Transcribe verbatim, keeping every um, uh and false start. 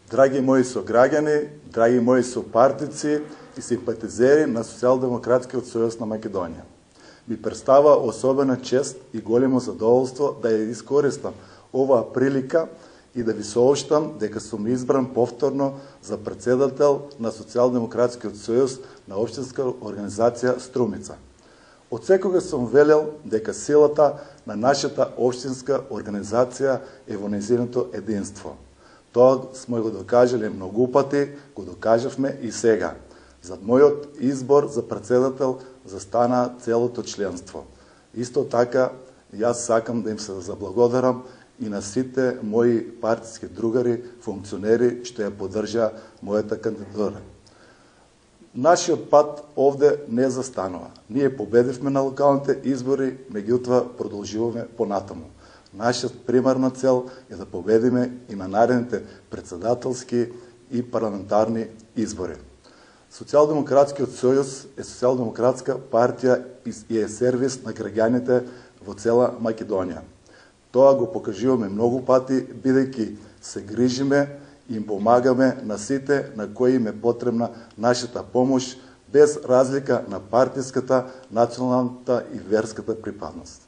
Драги мои сограѓани, драги мои сопартици и симпатизери на Социјалдемократскиот сојуз на Македонија. Ми представа особена чест и големо задоволство да ја искористам оваа прилика и да ви сообштам дека сум избран повторно за председател на Социјалдемократскиот сојуз на општинска организација Струмица. Од секога сум велел дека силата на нашата општинска организација е во нејзиното единство. Тоа сме го докажале многу пати, го докажавме и сега. Зад мојот избор за председател застана целото членство. Исто така, јас сакам да им се заблагодарам и на сите мои партиски другари, функционери, што ја поддржаа мојата кандидатура. Нашиот пат овде не застанува. Ние победивме на локалните избори, меѓутоа продолжуваме понатаму. Нашата примарна цел е да победиме и на наредните председателски и парламентарни избори. Социјалдемократскиот сојуз е социјалдемократска партија и е сервис на граѓаните во цела Македонија. Тоа го покажуваме многу пати, бидејќи се грижиме и им помагаме на сите на кои им е потребна нашата помош, без разлика на партиската, националната и верската припадност.